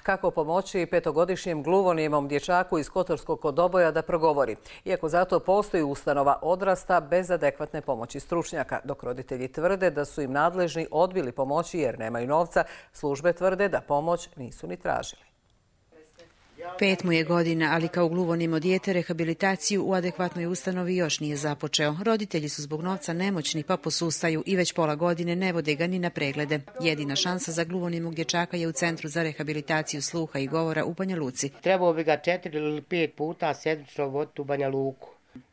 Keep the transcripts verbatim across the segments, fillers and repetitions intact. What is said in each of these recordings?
Kako pomoći petogodišnjem gluvonijemom dječaku iz Kotorskog kod Doboja da progovori? Iako zato postoji ustanova odrasta bez adekvatne pomoći stručnjaka. Dok roditelji tvrde da su im nadležni odbili pomoći jer nemaju novca, službe tvrde da pomoć nisu ni tražili. Pet mu je godina, ali kao gluvonijemo dijete rehabilitaciju u adekvatnoj ustanovi još nije započeo. Roditelji su zbog novca nemoćni pa posustaju i već pola godine ne vode ga ni na preglede. Jedina šansa za gluvonijemog dječaka je u Centru za rehabilitaciju sluha i govora u Banja Luci. Trebao bi ga četiri ili pet puta sedmično voditi u Banja Luku.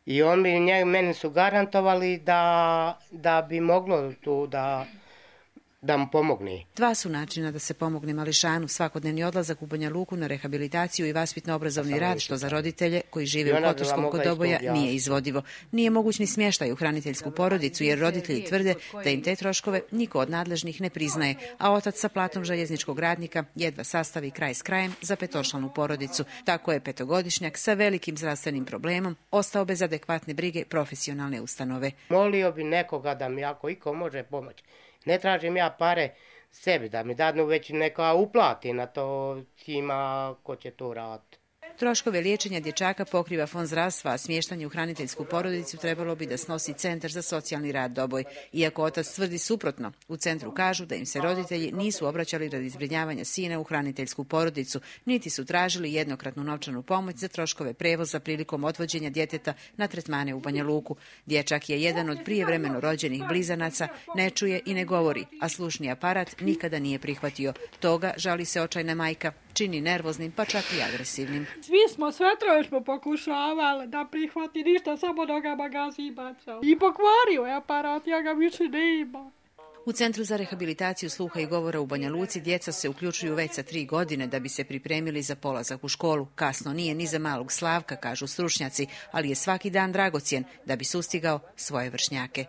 I on bi, meni su garantovali da, da bi moglo tu da... da mu pomogne. Dva su načina da se pomogne mališanu, svakodnevni odlazak u Banja Luku na rehabilitaciju i vaspitno-obrazovni rad, što za roditelje koji žive u Kotorskom kod Doboja nije izvodivo. Nije moguć ni smještaj u hraniteljsku porodicu jer roditelji tvrde da im te troškove niko od nadležnih ne priznaje, a otac sa platom željezničkog radnika jedva sastavi kraj s krajem za petočlanu porodicu. Tako je petogodišnjak sa velikim zdravstvenim problemom ostao bez adekvatne brige profesionalne ustanove. Molio bi nekoga da mi ako iko može pomoći. Ne tražim ja pare sebi da mi dadnu, već neka uplati na to tima ko će to raditi. Troškove liječenja dječaka pokriva Fond zdravstva, a smještanje u hraniteljsku porodicu trebalo bi da snosi Centar za socijalni rad Doboj. Iako otac tvrdi suprotno, u centru kažu da im se roditelji nisu obraćali radi zbrinjavanja sina u hraniteljsku porodicu, niti su tražili jednokratnu novčanu pomoć za troškove prevoza prilikom odvođenja djeteta na tretmane u Banja Luku. Dječak je jedan od prijevremeno rođenih blizanaca, ne čuje i ne govori, a slušni aparat nikada nije prihvatio. Toga, žali se očajna majka, čini nervoznim pa čak i agresivnim. Svi smo, sve troje smo pokušavali da prihvati ništa, samo nogama gazi bacao. I pokvario je aparat, ja ga više ne imam. U Centru za rehabilitaciju sluha i govora u Banja Luci djeca se uključuju već sa tri godine da bi se pripremili za polazak u školu. Kasno nije ni za malog Slavka, kažu stručnjaci, ali je svaki dan dragocjen da bi sustigao svoje vršnjake.